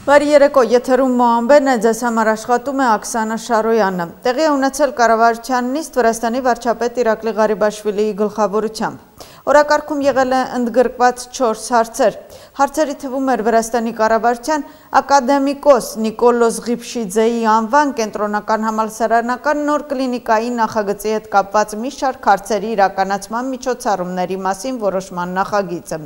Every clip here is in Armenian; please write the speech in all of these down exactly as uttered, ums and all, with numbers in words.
Բարի երեկո, եթերում Մոամբեն է, ձեզ համար աշխատում է Աքսանա Շարոյանը։ Տեղի է ունեցել կառավարության նիստ Վրաստանի վարչապետ Իրակլի Ղարիբաշվիլիի գլխավորությամբ։ Օրակարգում եղել է ընդգրկված չորս հարցեր։ Հարցերի թվում էր Վրաստանի կառավարության ակադեմիկոս Նիկոլոս Ղիփշիձեի անվան կենտրոնական համալսարանական նոր կլինիկայի նախագծի հետ կապված մի շարք հարցերի իրականացման միջոցառումների մասին որոշման նախագիծը։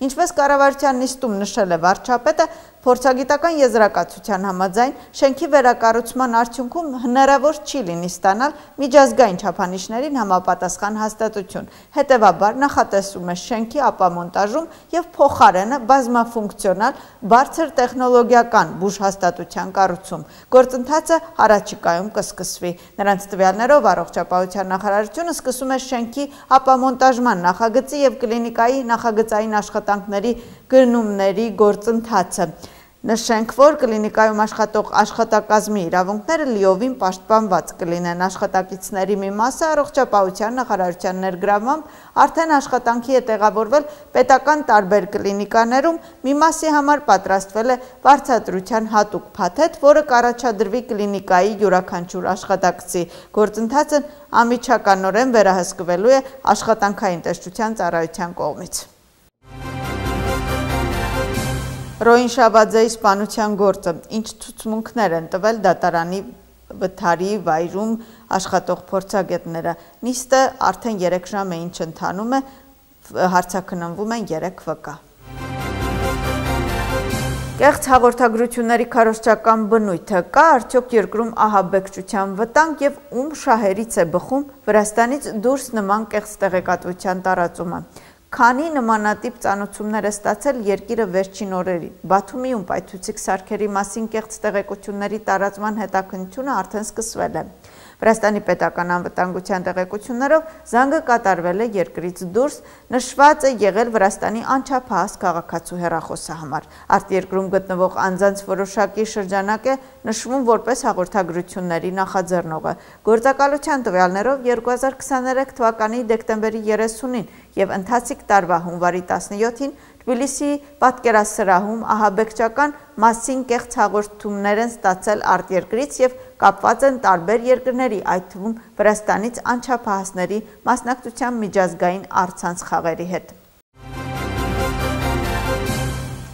Ինչպես կառավարության նիստում նշել է վարչապետը, փորձագիտական եզրակացության համաձայն շենքի վերակառուցման արդյունքում հնարավոր չի լինի ստանալ միջազգային չափանիշներին համապատասխան հաստատություն։ Հետևաբար նախատեսվում է շենքի ապամոնտաժում եւ փոխարենը բազմաֆունկցիոնալ բարձր տեխնոլոգիական բուժհաստատության կառուցում։ Գործընթացը առաջիկայում կսկսվի։ Նրանց տվյալներով առողջապահության նախարարությունը սկսում է շենքի ապամոնտաժման նախագծի եւ կլինիկայի նախագծային աշխատանքների գնումների գործընթացը։ Նշենք, որ կլինիկայում աշխատող աշխատակազմի իրավունքները լիովին պաշտպանված կլինեն։ Աշխատակիցների մի մասը առողջապահության նախարարության ներգրավմամբ արդեն աշխատանքի է տեղավորվել պետական տարբեր կլինիկաներում, մի մասի համար պատրաստվել է վարձատրության հատուկ փաթեթ, որը կառաջադրվի կլինիկայի յուրաքանչյուր աշխատակցի։ Գործընթացն անմիջականորեն վերահսկվելու է աշխատանքային տեսչության ծառայության կողմից։ Ռոին Շաբաձեի սպանության գործը, ինչ ցուցմունքներ են տվել դատարանի վթարի վայրում աշխատող փորձագետները։ Նիստը արդեն երեք ժամ է ինչ ընթանում է, հարցաքննվում են երեք վկա։ Կեղծ հաղորդագրությունների քարոզչական բնույթը կա արդյոք երկրում ահաբեկչության վտանգ եւ ում շահերից է բխում Վրաստանից դուրս նման կեղծ տեղեկատվության տարածումը։ Քանի նմանատիպ ծանոթություններ է ստացել երկիրը վերջին օրերին։ Բաթումիում պայթուցիկ սարքերի մասին կեղծ տեղեկությունների տարածման հետաքննությունը արդեն սկսվել է։ Վրաստանի պետական անվտանգության տեղեկություններով զանգը կատարվել է երկրից դուրս, նշված է եղել Վրաստանի անչափահաս քաղաքացու հեռախոսահամար։ Արտերկրում գտնվող անձանց որոշակի շրջանակ է նշվում որպես հաղորդագրությունների նախաձեռնողը։ Գործակալության տվյալներով երկու հազար քսաներեք թվականի դեկտեմբերի երեսունին եւ ընթացիկ տարվա հունվարի տասնյոթին Թբիլիսիի պատկերասրահում ահաբեկչական մասին կեղծ հաղորդումներ են ստացել արտերկրից եւ կապված են տարբեր երկրների, այդ թվում Վրաստանից անչափահասների մասնակցության միջազգային առցանց խաղերի հետ։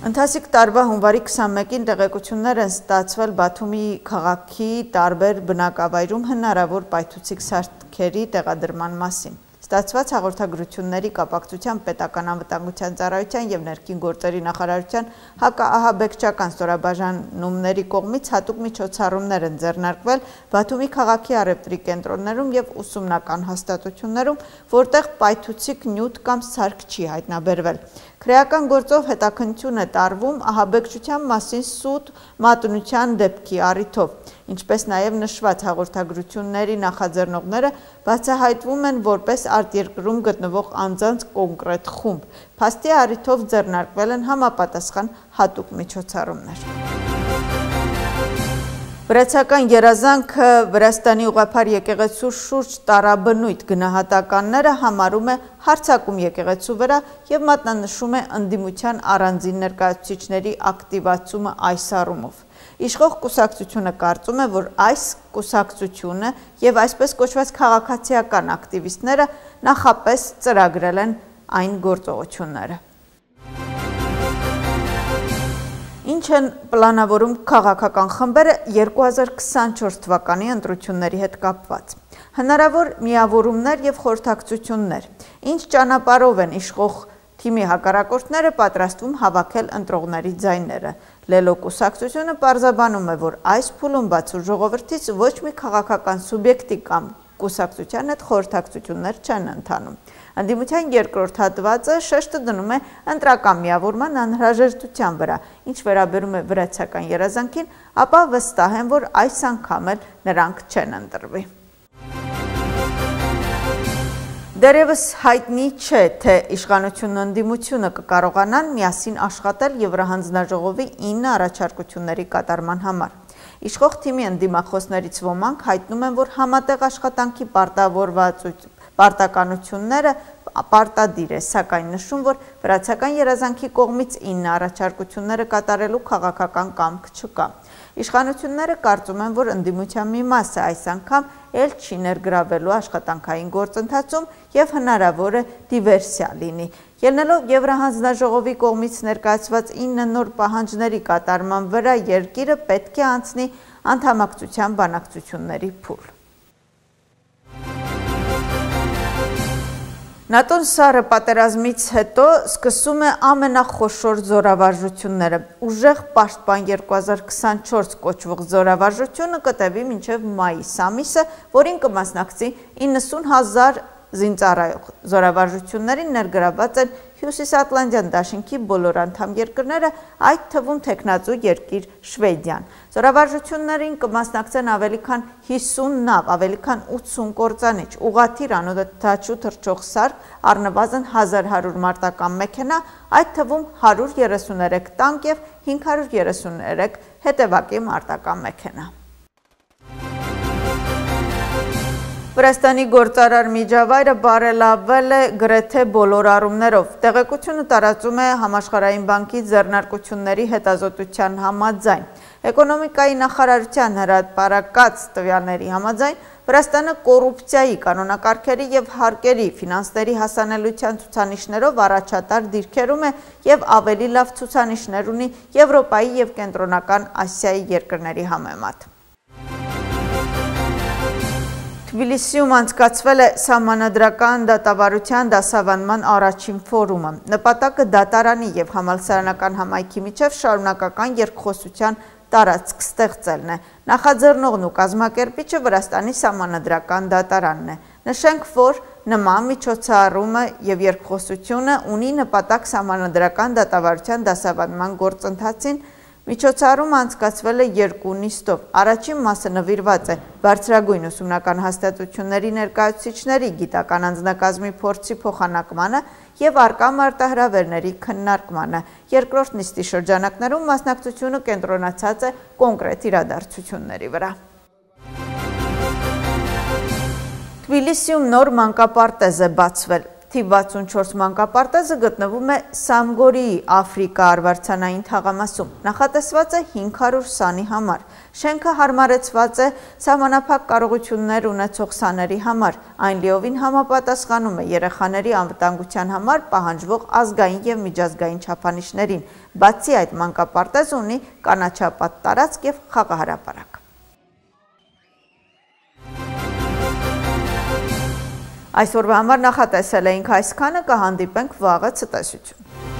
Ընթացիկ տարվա հունվարի քսանմեկին տեղեկություններ են ստացվել Բաթումի քաղաքի տարբեր բնակավայրում հնարավոր պայթուցիկ սարքերի տեղադրման մասին։ Ստացված հաղորդագրությունների կապակցությամբ պետական անվտանգության ծառայության եւ ներքին գործերի նախարարության հակաահաբեկչական ստորաբաժանումների կողմից հատուկ միջոցառումներ են ձեռնարկվել Բաթումի քաղաքի առևտրի կենտրոններում եւ ուսումնական հաստատություններում, որտեղ պայթուցիկ նյութ կամ սարք չի հայտնաբերվել։ Քրեական գործով հետաքննություն է տարվում ահաբեկչության մասին սուտ մատնության դեպքի առիթով, ինչպես նաև նշված հաղորդագրությունների նախաձեռնողները բացահայտվում են որպես արտերկրում գտնվող անձանց կոնկրետ խումբ։ Փաստի առիթով ձեռնարկվել են համապատասխան հատուկ միջոցառումներ։ Վրացական երազանքը Վրաստանի ուղղափառ եկեղեցու շուրջ տարաբնույթ գնահատականները համարում է հարձակում եկեղեցու վրա եւ մատնանշում է ընդդիմության առանձին ներկայացուցիչների ակտիվացումը այս առումով։ Իշխող կուսակցությունը կարծում է, որ այս կուսակցությունը եւ այսպես կոչված քաղաքացիական ակտիվիստները նախապես ծրագրել են այն գործողությունները։ Ինչ են պլանավորում քաղաքական խմբերը երկու հազար քսանչորս թվականի ընտրությունների հետ կապված։ Հնարավոր միավորումներ եւ խորհրդակցություններ։ Ինչ ճանապարհով են իշխող թիմի հակառակորդները պատրաստվում հավաքել ընտրողների ձայները։ Լելո կուսակցությունը պարզաբանում է, որ այս փուլում բացու ժողովրդից ոչ մի քաղաքական սուբյեկտի կամ կուսակցության հետ խորհրդակցություններ չեն ընթանում։ Ընդդիմության երկրորդ հատվածը շեշտը դնում է ընտրական միավորման անհրաժեշտության վրա, ինչ վերաբերում է վրացական երազանքին, ապա վստահ են, որ այս անգամ էլ նրանք չեն ընտրվի։ Դեռևս հայտնի չէ, թե իշխանությունն ու ընդդիմությունը կկարողանան միասին աշխատել Եվրահանձնաժողովի ինը առաջարկությունների կատարման համար։ Իշխող թիմի ընդդիմախոսներից ոմանք հայտնում են, որ համատեղ աշխատանքի պարտավորված պարտականությունները պարտադիր է, սակայն նշում, որ վրացական երազանքի կողմից ինը առաջարկությունները կատարելու քաղաքական կամք չկա։ Իշխանությունները կարծում են, որ ընդդիմության մի մասը այս անգամ էլ չի ներգրավվելու աշխատանքային գործընթացում և հնարավոր է դիվերսիա լինի։ Ելնելով Եվրահանձնաժողովի կողմից ներկայացված ինը նոր պահանջների կատարման վրա երկիրը պետք է անցնի անդամակցության բանակցությունների փուլ։ ՆԱՏՕ-ն սառը պատերազմից հետո սկսում է ամենախոշոր զորավարժությունները։ Ուժեղ պաշտպան երկու հազար քսանչորս կոչվող զորավարժությունը կտևի մինչև մայիս ամիսը, որին կմասնակցի իննսուն հազար զինծառայող։ Զորավարժություններին ներգրավված են Հյուսիսատլանտյան դաշինքի բոլոր անդամ երկրները, այդ թվում թեկնածու երկիր Շվեդիան։ Զորավարժություններին կմասնակցեն ավելի քան հիսուն նավ, ավելի քան ութսուն կործանիչ, ուղղաթիռ անօդաչու թռչող սարք, առնվազն հազար հարյուր մարտական մեքենա, այդ թվում հարյուր երեսուներեք տանկ և հինգ հարյուր երեսուներեք հետևակի մարտական մեքենա։ Վրաստանի գործարար միջավայրը բարելավել է գրեթե բոլոր առումներով։ Տեղեկությունը տարածում է Համաշխարհային բանկի ձեռնարկությունների հետազոտության համաձայն։ Էկոնոմիկայի նախարարության հրապարակած տվյալների համաձայն Վրաստանը կոռուպցիայի, կանոնակարգերի և հարկերի, ֆինանսների հասանելիության ցուցանիշներով առաջատար դիրքերում է և ավելի լավ ցուցանիշներ ունի Եվրոպայի և Կենտրոնական Ասիայի երկրների համեմատ։ Թբիլիսիում անցկացվել է սահմանադրական դատավարության դասավանդման առաջին ֆորումը։ Նպատակը դատարանի և համալսարանական համայնքի միջև շարունակական երկխոսության տարածք ստեղծելն է։ Նախաձեռնողն ու կազմակերպիչը Վրաստանի սահմանադրական դատարանն է։ Նշենք, որ նման միջոցառումը և երկխոսությունը ունի նպատակ սահմանադրական դատավարության դասավանդման գործընթացին։ Միջոցառումը անցկացվել է երկու նիստով։ Առաջին մասը նվիրված է բարձրագույն ուսումնական հաստատությունների ներկայացուցիչների գիտական անձնակազմի փորձի փոխանակմանը և առկա մարտահրավերների քննարկմանը։ Երկրորդ նիստի շրջանակներում մասնակցությունը կենտրոնացած է կոնկրետ իրադարձությունների վրա։ Թբիլիսիում նոր մանկապարտեզ է բացվել։ Թիվ վաթսունչորս մանկապարտեզը գտնվում է Սամգորիի Աֆրիկա արվարձանային թաղամասում, նախատեսված է հինգ հարյուր սանի համար։ Շենքը հարմարեցված է սահմանափակ կարողություններ ունեցող սաների համար, այն լիովին համապատասխանում է երեխաների անվտանգության համար պահանջվող ազգային և միջազգային չափանիշներին։ Բացի այդ, մանկապարտեզը ունի կանաչապատ տարածք և խաղահրապարակ։ Այսօրվա համար նախատեսել էինք այսքանը, կհանդիպենք վաղը, ցտեսություն։